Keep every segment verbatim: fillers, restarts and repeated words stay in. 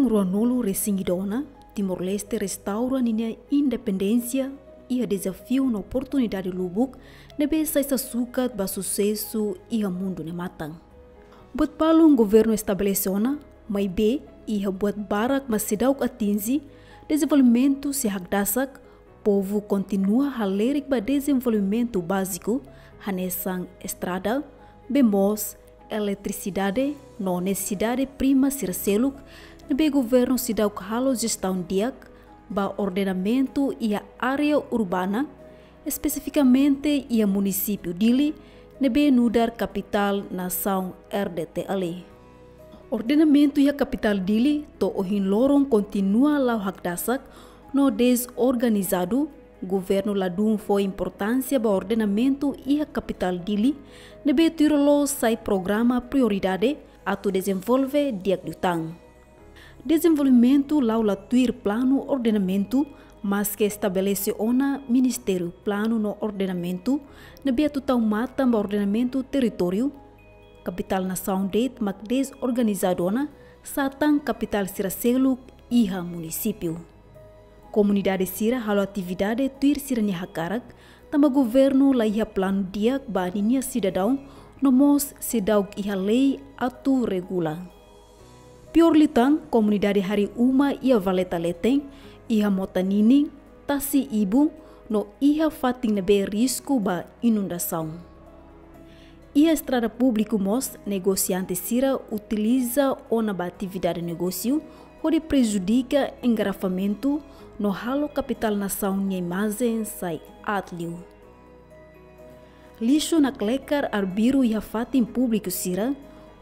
Ruanulu resin ida ona, Timor-Leste restaura ninia independénsia iha dezafiu no oportunidade lubuk ne'ebé sai sasukat ba susesu iha mundu ne'e matan. Buat balun governu estabelese ona, maibé iha buat barak mak seidauk atinje, dezenvolvimentu sei hakdasak, povu kontinua halerik ba dezenvolvimentu báziku, hanesan estrada, bee moos, eletrisidade no nesesidade prima sira seluk, ne'ebé governu seidauk halo jestaun di'ak ba ordenamentu iha área urbana, espesifikamente iha munisípiu Dili, ne'ebé nu'udar kapitál nasaun R D T L. Ordenamentu iha kapitál Dili to'o ohin loron kontinua la'o hakdasak no dezorganizadu. Governu ladún fó importánsia ba ordenamentu iha kapitál Dili, ne'ebé tuir loloos sai programa prioridade atu dezenvolve di'ak liután. Dezenvolvimentu la'o la tuir planu ordenamentu, maske estabelese ona Ministériu Planu no Ordenamentu, ne'ebé atu tau matan ba ordenamentu territóriu. Kapitál nasaun de'it mak dezorganizadu ona, satan kapitál sira seluk iha munisípiu. Komunidade sira halo atividade tuir sira-nia hakarak, tanba governu la iha planu di'ak ba ninia sidadaun, no mós seidauk iha lei atu regula. Piór liután, komunidade harii uma iha valeta leten, iha mota ninin, tasi ibun, no iha fatin ne'ebé risku ba inundasaun. Iha estrada públiku mós negosiante sira utiliza ona ba atividade negósiu, hodi prejudika engarrafamentu no halo kapitál nasaun nia imajen sai aat liu. Lixu naklekar arbiru iha fatin públiku sira,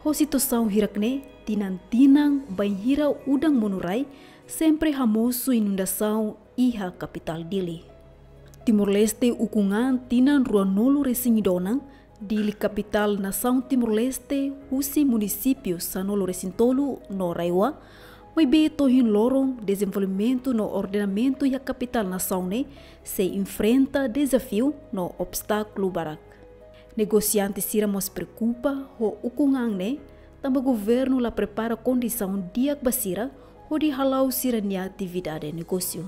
ho situasaun hirak-ne'e, tinan-tinan bainhira udan monu rai, sempre hamosu inundasaun iha kapitál Dili. Timor-Leste ukun an tinan ruanulu resin ida ona, Dili kapitál nasaun Timor-Leste, husi munisípiu sanulu resin tolu no RAEOA, maibé to'o ohin loron dezenvolvimentu no ordenamentu iha kapitál nasaun ne'e sei enfrenta dezafiu no obstákulu barak. Negosiante sira mós preokupa ho ukun an ne'e, tanba governu la prepara kondisaun di'ak ba sira, hodi hala'o sira-nia atividade negósiu.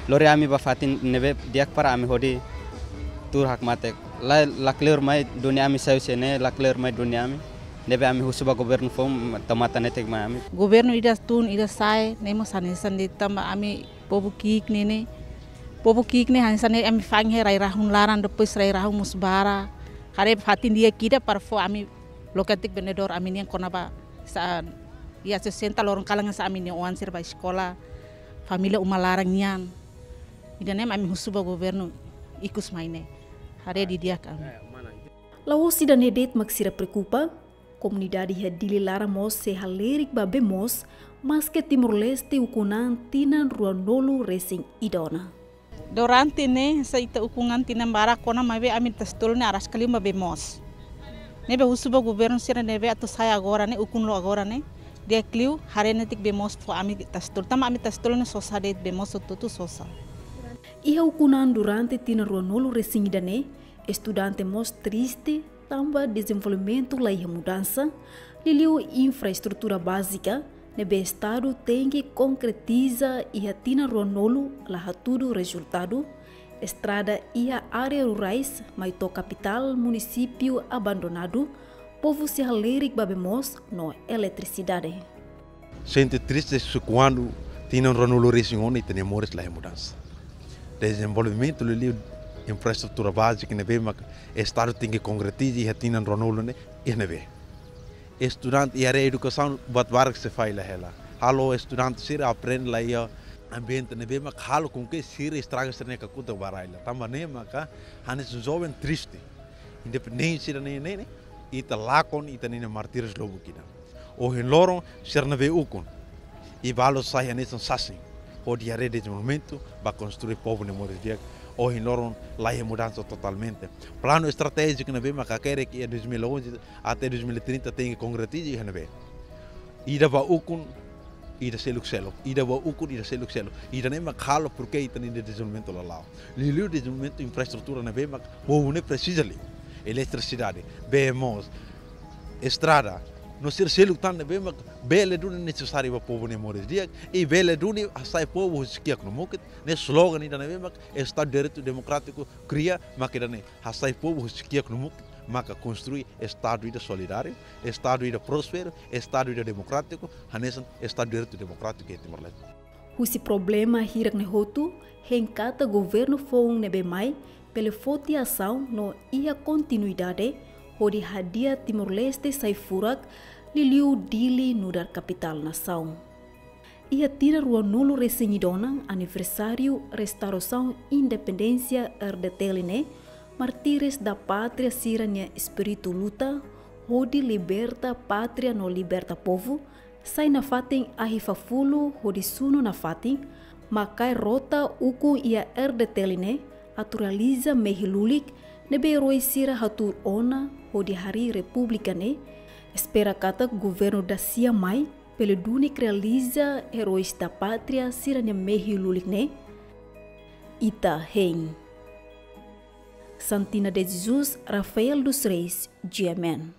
Lori ami ba fatin ne'ebé di'ak para ami hodi tuur hakmatek. La, la kleur mai duni ami sai husi ne'e, la kleur mai duni ami. Ne'ebé ami husu ba governu fó tau matan netik mai ami. Governu ida tun, ida sa'e, ne'e mós hanesan de'it tanba ami povu ki'ik ne'e ne'e. Povu ki'ik ne'e hanesan ne'e ami fa'an iha rai-rahun laran, depois rai-rahun mós barak. Haree fatin di'ak ida para fó ami loke katak vendedór ami nian kona-ba sá, iha sesenta loron kalan sá ami-nia oan sira ba eskola, família uma laran nian. Ida-ne'e mak ami husu ba governu ikus mai ne'e. Haree didi'ak ami. La'ós ida-ne'e de'it mak sira preokupa, komunidade iha Dili laran mós sei halerik ba bee moos, maske Timor-Leste ukun an tinan ruanulu resin ida ona. Durante ne'e, hanesan ita ukun an tinan barak ona maibé ami Tasitolu ne'e araska liu ba bee moos. Ne'ebé husu ba governu sira ne'ebé atu sa'e agora ne'e, ukun loos agora ne'e, di'ak liu haree netik bee moos fó ami Tasitolu. Tanba ami Tasitolu ne'e sosa de'it, bee moos hotu-hotu sosa. Iha ukun an durante tinan ruanulu resin ida ne'e, estudante mós triste tanba dezenvolvimentu la iha mudansa, liuliu infraestrutura bázika, ne'ebé Estadu tenke konkretiza iha tinan ruanulu la hatudu rezultadu, estrada iha área rurais mai to'o kapitál munisípiu abandonadu, povu sei halerik ba bee moos no eletrisidade. Sente triste se kuandu tinan ruanulu resin ona ita-nia moris la iha mudansa. Dezenvolvimentu liuliu infraestrutura bázika ne'ebé mak Estadu tenke konkretiza iha tinan ruanulu ne'e, iha ne'ebé. Estudante iha área edukasaun buat barak sei falla hela. Halo estudante sira aprende la iha ambiente ne'ebé mak halo com que sira estraga sira-nia kakutak ba rai laran. Tanba ne'e maka hanesan joven triste. Independénsia ida-ne'e ne'e, ne'e, ita lakon ita-nia martíriu lubuk ida. Ohin loron sira ne'ebé ukun. I balu sai hanesan sasin. Hodi haree dezenvolvimentu, ba konstrui povu nia moris di'ak. Ohin loron la iha mudansa totalmente. Planu estratéjiku ne'ebé mak hakerek iha dois mil e onze até dois mil e trinta tenke konkretiza iha ne'ebé. Ida ba ukun, ida seluk-seluk. Ida ba ukun, ida seluk-seluk. Ida-ne'e mak halo porke ita-nia dezenvolvimentu la la'o. Liuliu dezenvolvimentu infraestrutura ne'ebé mak povu ne'e presiza liu. Eletrisidade, bee moos, estrada, No sira seluk tan ne'ebé mak bele duni nesesáriu ba povu nia moris di'ak, i bele duni hasai povu husi kiak no mukit, ne'e slogan ida ne'ebé mak Estadu Direitu Demokrátiku kria, mak ida-ne'e hasai povu husi kiak no mukit, maka konstrui Estadu ida solidáriu, Estadu ida prósperu, Estadu ida demokrátiku, hanesan Estadu Direitu Demokrátiku iha Timor-Leste. Husi problema hirak ne'e hotu, hein katak governu foun ne'ebé mai, bele foti asaun no iha kontinuidade, hodi hadi'a Timor-Leste sai furak, liuliu Dili nu'udar kapitál nasaun. Iha tinan ruanulu-resin-ida ona aniversáriu restaurasaun independénsia R D T L ne'e, mártires da pátria sira-nia espíritu luta, hodi liberta pátria no liberta povu, sai nafatin ahi fafulu hodi sunu nafatin, mak kaer rota ukun iha R D T L ne'e, atu realiza mehi lulik ne'ebé erói sira hatuur ona hodi harii repúblika ne'e, espera katak governu dasia mai, bele duni realiza eróis da pátria sira-nia mehi lulik ne'e. Ita hein. Santina de Jesus, Rafael dos Reis, G M N.